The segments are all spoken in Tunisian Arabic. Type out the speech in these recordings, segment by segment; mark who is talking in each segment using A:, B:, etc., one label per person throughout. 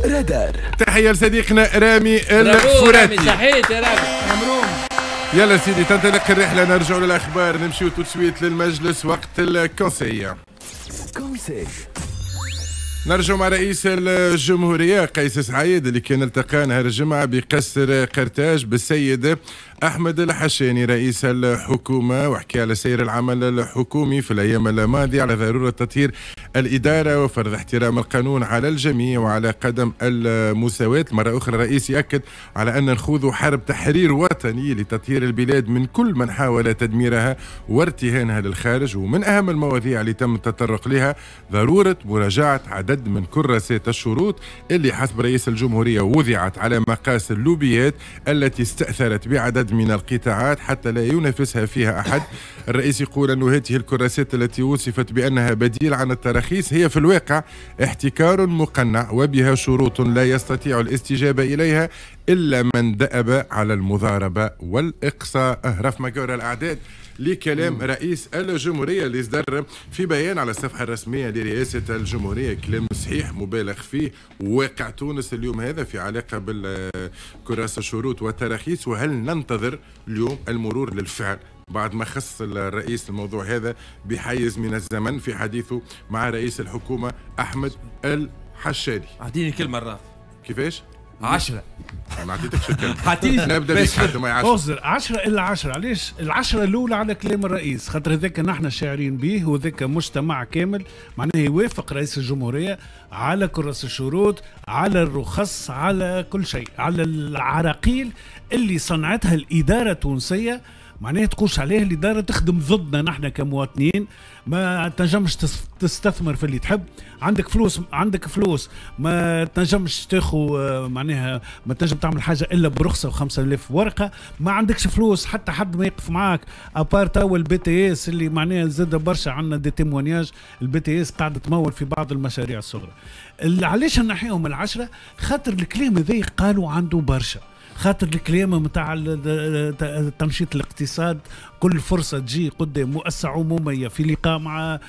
A: رادار.
B: تحية لصديقنا رامي الفراتي.
C: صحيت يا رامي.
B: يلا سيدي تنطلق الرحلة، نرجع للأخبار، نمشيو tout de suite للمجلس وقت ال conseil.
A: conseil.
B: نرجع مع رئيس الجمهورية قيس سعيد اللي كان التقى نهار الجمعة بقصر قرطاج بالسيد أحمد الحشاني رئيس الحكومة، وحكي على سير العمل الحكومي في الأيام الماضية، على ضرورة تطهير الإدارة وفرض احترام القانون على الجميع وعلى قدم المساواة. مرة أخرى الرئيس يأكد على أن نخوض حرب تحرير وطني لتطهير البلاد من كل من حاول تدميرها وارتهانها للخارج. ومن أهم المواضيع اللي تم التطرق لها ضرورة مراجعة عدد من كراسات الشروط اللي حسب رئيس الجمهورية وضعت على مقاس اللوبيات التي استأثرت بعدد من القطاعات حتى لا ينافسها فيها أحد. الرئيس يقول أن هذه الكراسات التي وصفت بأنها بديل عن التراخيص هي في الواقع احتكار مقنع وبها شروط لا يستطيع الاستجابة إليها إلا من دأب على المضاربة والإقصاء. رف مجرى الأعداد لكلام رئيس الجمهورية اللي صدر في بيان على الصفحة الرسمية لرئاسة الجمهورية، كلام صحيح مبالغ فيه. واقع تونس اليوم هذا في علاقة بالكراسة الشروط والتراخيص، وهل ننتظر اليوم المرور للفعل بعد ما خص الرئيس الموضوع هذا بحيز من الزمن في حديثه مع رئيس الحكومة أحمد الحشاني؟
C: أعطيني كلمة الراف.
B: كيفاش؟
C: 10.
B: ما عطيتكش الكلمة.
C: عطيني
B: نبدا بك حتى ما 10.
D: 10 إلا 10. علاش؟ العشرة الأولى على كلام الرئيس، خاطر هذاك نحن شاعرين به وذاك مجتمع كامل معناه يوافق رئيس الجمهورية على كرس الشروط، على الرخص، على كل شيء، على العراقيل اللي صنعتها الإدارة التونسية. معناها تقولش عليه الإدارة تخدم ضدنا نحن كمواطنين، ما تنجمش تستثمر في اللي تحب، عندك فلوس، عندك فلوس ما تنجمش تاخو، معناها ما تنجم تعمل حاجة إلا برخصة و5000 ورقة، ما عندكش فلوس حتى حد ما يقف معاك، à part توا ال BTS اللي معناها زاد برشا عندنا des témoignages، ال BTS قاعدة تمول في بعض المشاريع الصغرى. علاش نحيهم العشرة؟ خاطر الكلام هذا قالوا عنده برشا، خاطر الكلام نتاع تنشيط الاقتصاد، كل فرصة تجي قدام مؤسسة عموميه في لقاء مع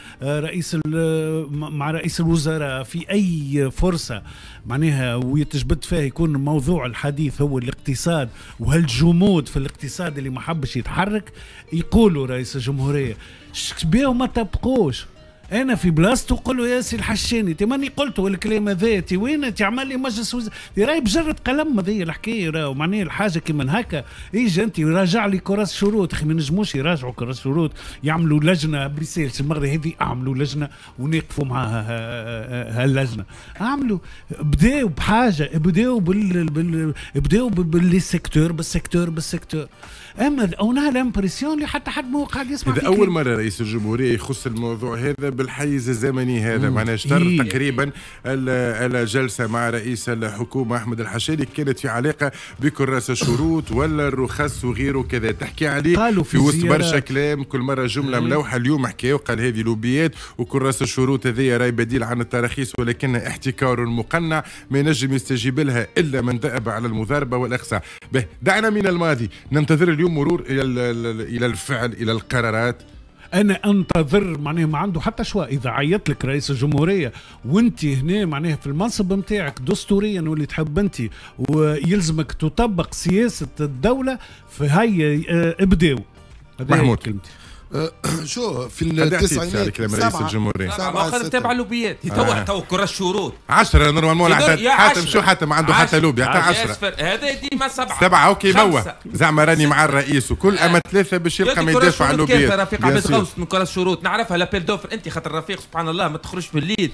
D: رئيس الوزراء في اي فرصة معناها ويتجبد فيها يكون موضوع الحديث هو الاقتصاد وهالجمود في الاقتصاد اللي ما حبش يتحرك، يقولوا رئيس الجمهورية شبيه ما طبقوش. انا في بلاصتو قول له يا سي الحشاني، تي ماني قلت الكلام هذا، تي وين تعمل لي مجلس وزراء؟ راهي بجرة قلم هذه الحكاية، راهو معناها الحاجة كيما هكا، اجا انت راجع لي كراس شروط، اخي ما نجموش يراجعوا كراس شروط، يعملوا لجنة بريسيلس المرة هذه، اعملوا لجنة ونقفوا مع هاللجنه، اعملوا بداوا بحاجة، بداوا بداوا بال secteur بال secteur بال secteur، اما on a l'impression اللي حتى حد ما قاعد يسمع.
B: هذا اول مرة رئيس الجمهورية يخص الموضوع هذا بالحيز الزمني هذا، معناها اشتر تقريبا الجلسة مع رئيس الحكومة احمد الحشاني كانت في علاقة بكراس الشروط ولا الرخص وغيره كذا، تحكي عليه في وسط برشا كلام، كل مرة جملة ملوحه. اليوم حكى وقال هذه لوبيات وكراس الشروط هذه راي بديل عن التراخيص ولكنها احتكار مقنع ما ينجم يستجيب لها الا من دأب على المضاربة والاقصاء. به دعنا من الماضي، ننتظر اليوم مرور الى الفعل، الى القرارات.
D: انا انتظر معناها ما عنده حتى choix، اذا عيط لك رئيس الجمهورية وانت هنا معناها في المنصب نتاعك دستوريا واللي تحب انت ويلزمك تطبق سياسة الدولة، فهي ابداو.
B: محمود
D: كلمتي.
E: شو في التسعينات
B: كلام رئيس الجمهورية
C: سبعة تابع اللوبيات تو كراس شروط
B: 10 normalement العدد. حاتم شو حاتم عنده حتى لوبي حتى 10
C: هذا ديما 7
B: 7 OK موا زعما راني مع الرئيس وكل اما 3 باش يلقى ما يدافع على اللوبيات.
C: رفيق عبد الغوث من كراس شروط نعرفها l'appel d'offres انت خاطر رفيق سبحان الله ما تخرجش في الليل.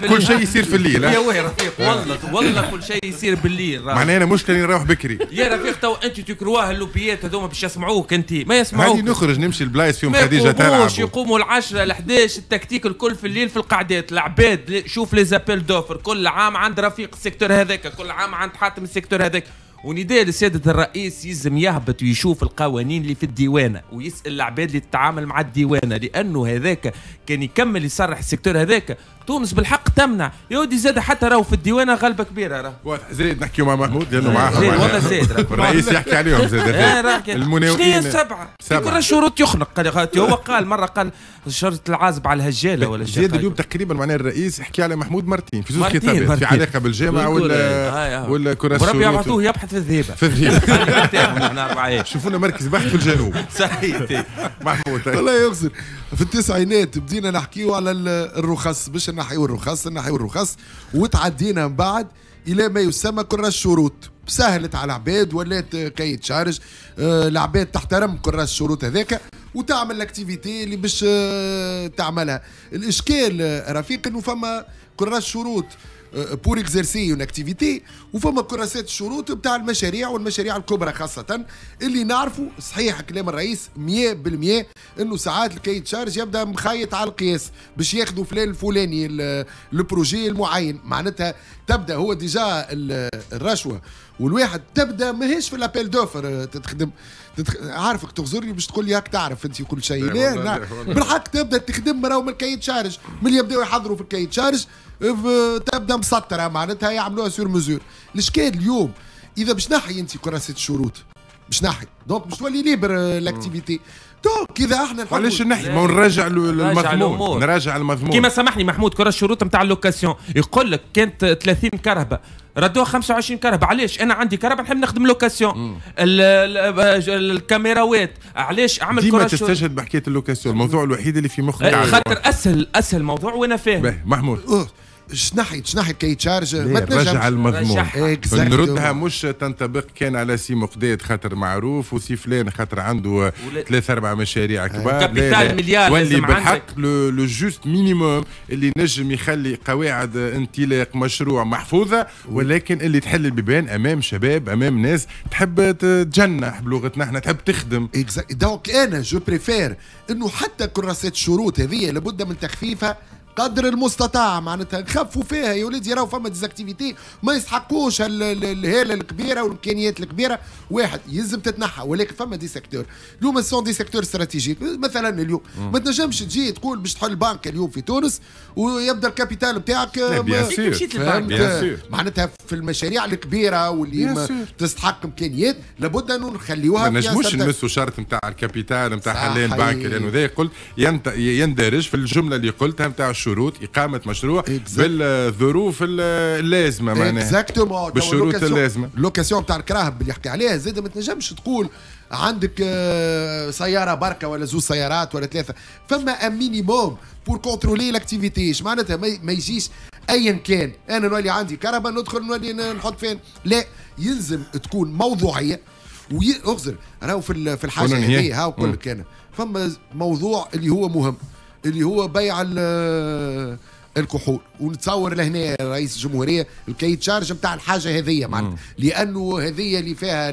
B: كل شيء يصير في الليل.
C: يا وي رفيق والله والله كل شيء يصير بالليل.
B: معناها انا مشكلة نروح بكري
C: يا رفيق. تو انت تكرواه اللوبيات هذوما باش يسمعوك انت ما يسمعوك.
B: هاني نخرج نمشي البلايص فيهم خديجة تلعب.
C: يقوموا 10 ل11 التكتيك الكل في الليل في القعدات العباد. شوف les appels d'offres كل عام عند رفيق ال secteur هذاك، كل عام عند حاتم ال secteur هذاك. ونداء لسيادة الرئيس يلزم يهبط ويشوف القوانين اللي في الديوانة ويسأل العباد اللي تتعامل مع الديوانة، لأنه هذاك كان يكمل يصرح ال secteur هذاك تونس بالحق تمنع يا ودي زاد حتى راهو في الديوانه غلبه كبيرة راه.
B: واضح. زيد نحكيو مع محمود لانه معاه
C: والله زيد
B: الرئيس يحكي عليهم زاد
C: المناوئين سبعة كل الشروط يخنق. هو قال مرة قال شرط العازب على الهجاله ولا
B: شيء. زيد اليوم تقريبا معناها الرئيس حكي على محمود مرتين في زوج خطابات في علاقة بالجامعة ولا كرة
C: الشروط. ربي يبعثوه يبحث في الذهيبه
B: في الذهيبه. شوفونا مركز بحث في الجنوب.
C: صحيح
B: محمود.
E: والله يغزر في التسعينات بدينا نحكيو على الرخص باش نحيو الرخص نحيو الرخص، وتعدينا من بعد الى ما يسمى كراس الشروط. سهلت على العباد ولات cahier des charges، العباد تحترم كراس الشروط هذاك وتعمل l'activité اللي باش تعملها. الاشكال رفيق انه فما كراس شروط pour exercer une activité وفما كراسات الشروط بتاع المشاريع والمشاريع الكبرى خاصة اللي نعرفوا. صحيح كلام الرئيس 100% انه ساعات ال cahier des charges يبدا مخيط على القياس باش ياخذوا فلان الفلاني ال projet المعين، معناتها تبدا هو déjà الرشوة والواحد تبدا ماهيش في l'appel d'offres تخدم. عارفك تغزرني باش تقول لي هاك تعرف انت كل شيء. لا بالحق تبدا تخدم راهو من ال cahier des charges، من يبداو يحضروا في ال cahier des charges تبدا مسطرة معناتها يعملوها sur mesure. الاشكال اليوم اذا باش نحي انت كراسة الشروط باش نحي donc باش تولي libre l'activité. donc اذا احنا
B: علاش نحي؟ ما نراجع المضمون، نراجع المضمون.
C: كيما سامحني محمود كراس الشروط نتاع ال location يقول لك كانت 30 كرهبه ردوها 25 كرهبه. علاش؟ انا عندي كرهبه نحب نخدم location. الكاميراوات علاش اعمل
B: ديما تستشهد بحكاية ال location، الموضوع الوحيد اللي في مخك
C: خاطر اسهل موضوع وانا فاهم.
B: محمود
E: شنحي cahier des charges ما
B: تنجمش رجع المضمون نردها مش تنطبق كان على سي مقداد خاطر معروف وسي فلان خاطر عنده 3 4 مشاريع كبار.
C: capital مليار
B: ولي بالحق le juste minimum اللي نجم يخلي قواعد انطلاق مشروع محفوظة، ولكن اللي تحل البيبان امام شباب امام ناس تحب تجنح بلغتنا احنا تحب تخدم.
E: donc انا je préfère انه حتى كراسات الشروط هذه لابد من تخفيفها قدر المستطاع، معناتها نخفوا فيها يا ولادي. راهو فما des activités ما يسحقوش الهالة الكبيرة والامكانيات الكبيرة، واحد يلزم تتنحى. ولكن فما des secteurs اليوم sont des secteurs stratégiques. مثلا اليوم ما تنجمش تجي تقول باش تحل بنك اليوم في تونس ويبدا ال capital نتاعك معناتها في المشاريع الكبيرة واللي تستحق امكانيات لابد انه نخليوها.
B: ما نجموش نمسوا شرط نتاع ال capital نتاع حلين بنك لانه ذا قلت يندرج في الجملة اللي قلتها نتاع شروط إقامة مشروع بالظروف اللازمة معناها بالشروط اللازمة.
E: ال location تاع الكراهب اللي يحكي عليها زاد ما تنجمش تقول عندك سيارة بركة ولا زوج سيارات ولا ثلاثة، فما un minimum pour contrôler l'activité. اش معناتها ما يجيش ايا كان انا نولي عندي كرهبة ندخل نولي نحط فين، لا يلزم تكون موضوعية. واغزر راهو في الحاجة هذه هاو نقول لك انا فما موضوع اللي هو مهم اللي هو بيع الكحول، ونتصور لهنا رئيس الجمهورية ال cahier des charges نتاع الحاجة هذية معناتها، لانه هذية اللي فيها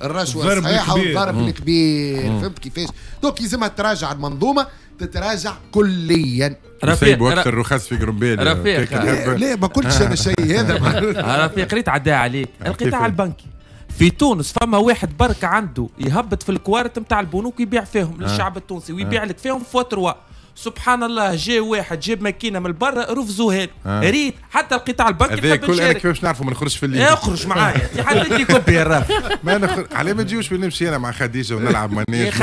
E: الرشوة الصحيحة والضرب الكبير. فهمت كيفاش؟ donc يلزمها تراجع المنظومة، تتراجع كليا.
B: رفيق وقت الرخص في قربيل.
C: رفيق
E: لا ما قلتش انا الشيء هذا.
C: رفيق ريت عداها عليك القطاع البنكي في تونس فما واحد برك عنده يهبط في الكوارت نتاع البنوك يبيع فيهم للشعب التونسي ويبيع لك فيهم fois trois. سبحان الله جا واحد جاب ماكينة من برا رفزوها له. ريت حتى القطاع البنكي
B: هذا كل انا كيفاش نعرفوا ما نخرجش في الليل.
C: اخرج معايا حتى انت كوبي يا رافي.
B: ما نخرج علاه ما تجيوش نمشي انا مع خديجة ونلعب مانيش.